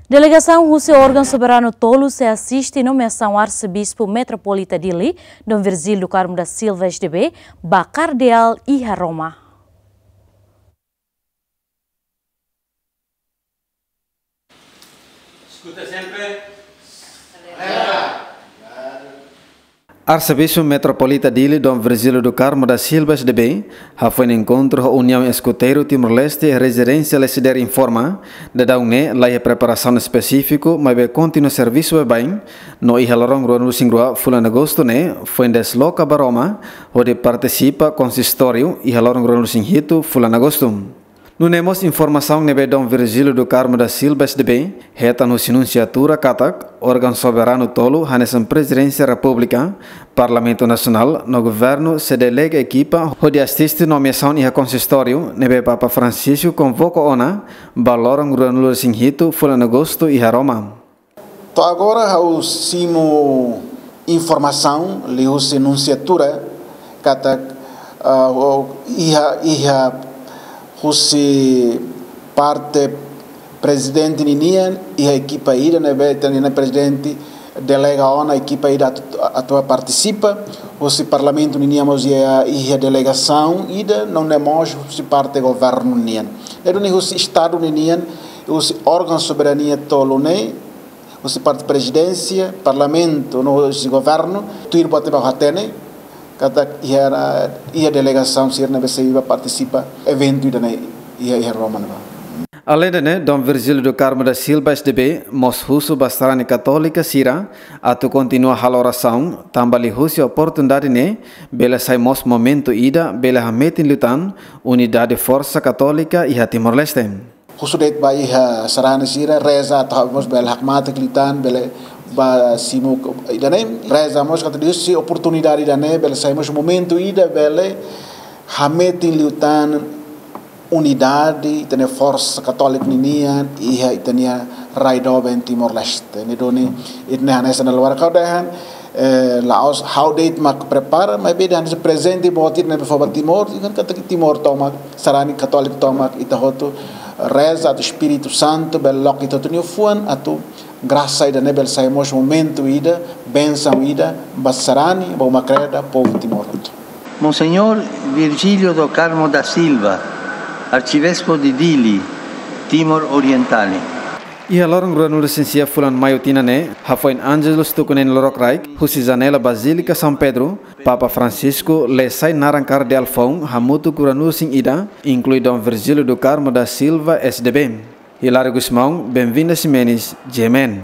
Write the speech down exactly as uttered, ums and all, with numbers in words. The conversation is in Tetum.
Delegasaun husi órgaun soberanu tolu sei asiste nomeasaun Arsebispu Metropolita Dili, Dom Virgílio do Carmo da Silva, S D B, ba Kardeál iha Roma. Escuta sempre. Arsebispu Metropolita Dili, Dom Virgílio do Carmo da Silva, S D B, hafoin enkontru ho Uniaun Eskuteiru Timor-Leste, Rezidénsia Lesider informa, daudaun ne'e laiha preparasaun espesífiku, maibé kontinua servisu baibain, no iha loron ruanulu-resin-rua fulan Agostu ne'e, foin desloka ba Roma, hodi partisipa konsistóriu, iha loron ruanulu-resin-hitu fulan Agostu. Nune'e mós informasaun ne'ebé Dom Virgílio do Carmo da Silva, S D B, hetan husi nunsiatura katak, órgaun soberanu tolu, hanesan Prezidénsia Repúblika, Parlamentu Nasionál, no Governu, sei delega ekipa, hodi asiste nomeasaun iha konsistóriu, ne'ebé Papa Francisco konvoka ona, ba loron ruanulu-resin-hitu fulan Agostu iha Roma. To'o agora ha'u simu informasaun liuhusi nunsiatura katak, ah, o, iha, iha husi parte prezidente ninian, iha ekipa ida ne'ebé ita-nia prezidente delega ona ekipa ida atu, atu partisipa, husi parlamentu ninian mós iha, iha delegasaun ida, no ne'e mós husi parte governu nian. Ne'e duni husi estadu ninian, husi órgaun soberania tolu ne'e, husi parte prezidénsia, parlamentu, no husi governu, tuir buat ne'ebé ha'u hatene, katak iha, iha delegasaun sira ne'ebé sei bá partisipa eventu ida-ne'e iha, iha Roma ne'ebá. Aleinde ne'e, Dom Virgílio do Carmo da Silva, S D B, mós husu ba sarani katólika sira, atu kontinua halo orasaun, tanba liuhusi oportunidade ne'e, bele sai mós momentu ida, bele hametin liután, unidade forsa katólika iha Timor-Leste. Husu de'it ba iha sarani sira, reza atu ha'u mós bele hakmatek liután, bele bá simu ida-ne'e, reza mós katak liuhusi oportunidade ida-ne'e, bele sai mós momentu ida, bele hametin liután unidade, ita-nia forsa katólika ninian, iha ita-nia rai doben Timor-Leste. Ne'e duni, ita-nia hanesan na luar kau dehan, eh, la'ós ha'u de'it mak prepara, maibé dehan se prezente boot ida ne'ebé fó ba Timor, ita katak Timor tomak, sarani katólika tomak, ita hotu reza atu Espíritu Santu, bele loke ita hotu nia fuan, atu grasa ida-ne'e bele sai mós momentu ida, bensaun ida, ba sarani, ba uma kreda, povu Timor hotu. Monseñor Virgílio do Carmo da Silva, Arcebispo de Dili, Timor Oriental. Iha loron ruanulu-resin-sia fulan Maiu tinan ne'e, hafoin Ángelus tuku neen lorokraik, husi janela Bazílika São Pedro, Papa Francisco lee sai naran kardeál foun hamutuk ruanulu-resin-ida, inklui Dom Virgílio do Carmo da Silva, S D B. Hilário Gusmão, Benvinda Ximenes, G M N.